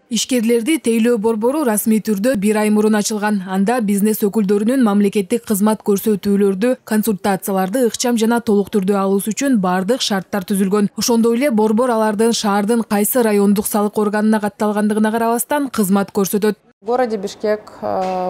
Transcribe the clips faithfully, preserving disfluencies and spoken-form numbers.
Ишкерлерди тейлөө борбору расмий түрдө бир ай мурун ачылган. Анда бизнес өкүлдөрүнүн мамлекеттик кызмат көрсөтүүлөрдү, консультацияларды ыкчам жана толук түрдө алуусу үчүн бардык шарттар түзүлгөн. Ошондой эле борбор алардын шаардын кайсы райондук салык органына катталгандыгына карабастан кызмат көрсөтөт. В городе Бишкек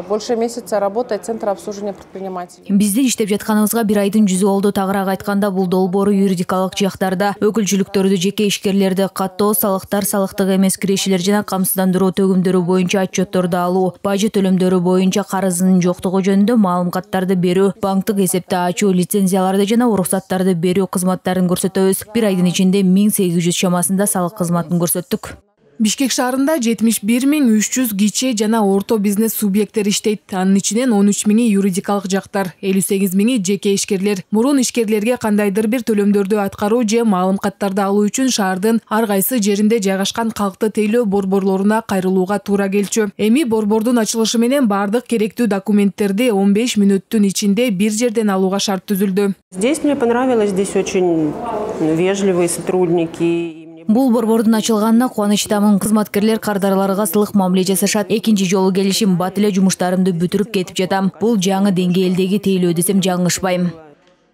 больше месяца работает Центр обслуживания предпринимателей. Биздин иштеп жатканыбызга бир айдын жүзү болду. Тагыраак айтканда, бул долбоору юридикалык жактарда өкүлчүлүктөрдү, жеке ишкерлерди каттоо, салыктар, салыктык эмес кирешилер жана камсыздандыруу төгүмдөрү боюнча отчетторду алуу, бажы төлөмдөрү боюнча карызынын жоктугу жөнүндө маалыматтарды берүү, банктык эсепти ачуу, лицензияларды жана уруксаттарды берүү кызматтарын көрсөтөбүз. Бир айдын ичинде миң сегиз жүз чамасында салык кызматын көрсөттүк. Бишкек шаарында жетимиш бир миң үч жүз кичи жана орто бизнес субъекттери иштейт. Анын ичинен он үч миңи юридикалык жактар, элүү сегиз миңи жеке ишкерлер. Мурун ишкерлерге кандайдыр бир төлөмдөрдү аткаруу же маалыматтарды алуу үчүн шаардын ар кайсы жеринде жайгашкан калкты тейлөө борборлоруна кайрылууга туура келчү. Эми борбордун ачылышы менен бардык керектүү документтерди он беш мүнөттүн ичинде бир жерден алууга шарт түзүлдү. Здесь мне понравилось, здесь очень вежливые сотрудники. Бул борбордун ачылганына кубанычтамын. Кызматкерлер кардарларга сылык мамиле жасашат. Экинчи жолу келишим, бат эле жумуштарымды бүтүрүп кетип жатам. Бул жаңы деңгээлдеги тейлөө десем жаңылышпайм.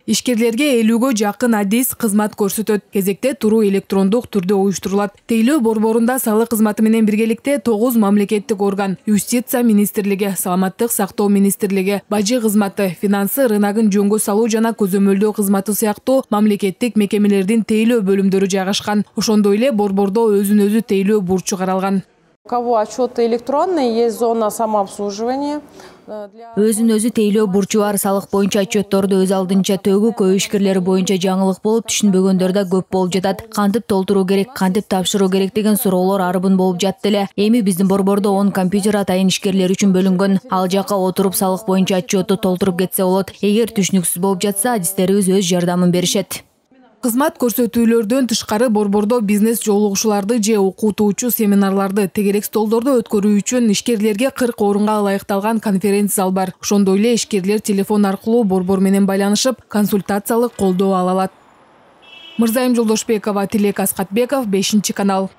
Ишкерлерге элүүгө жакын адис кызмат көрсөтөт. Кезекте туруу электрондук түрдө уюштурулат. Тейлөө борборунда салык кызматы менен биргеликте тогуз мамлекеттик орган: Юстиция министрлиги, Саламаттык сактоо министрлиги, Бажы кызматы, Финансы рыногун жөнгө салуу жана көзөмөлдөө кызматы сыяктуу мамлекеттик мекемелердин тейлөө бөлүмдөрү жайгашкан. Ошондой эле борбордо өзүн өзү тейлөө бурчу каралган. У кого отчеты электронные, есть зона самообслуживания. Өзүн өзү тейлөө бурчу бар. Салык боюнча отчетторду өз алдынча төгүү, көй ишкерлери боюнча жаңылык болуп, түшүнбөгөндөр да көп болуп жатат. Кантип толтуруу керек, кантип тапшыруу керек деген суроолор арбын болуп жатты эле. Эми биздин борбордо он компьютер атайын ишкерлер үчүн бөлүнгөн. Ал жака отуруп салык боюнча отчетту толтуруп кетсе болот. Эгер түшүнүксүз болуп жатса, адистерибиз өз жардамын беришет. Кызмат көрсөтүүлөрдөн тышкары борбордо бизнес жолугушууларды же окутуучу семинарларды, тегерек столдорду өткөрүү үчүн ишкерлерге кырк орунга ылайыкталган конференц зал бар. Ошондой эле ишкерлер телефон аркылуу борбор менен байланышып, консультациялык колдоо ала алат. Мырзайым Жолдошбекова, Тилек Аскатбеков, бешинчи канал.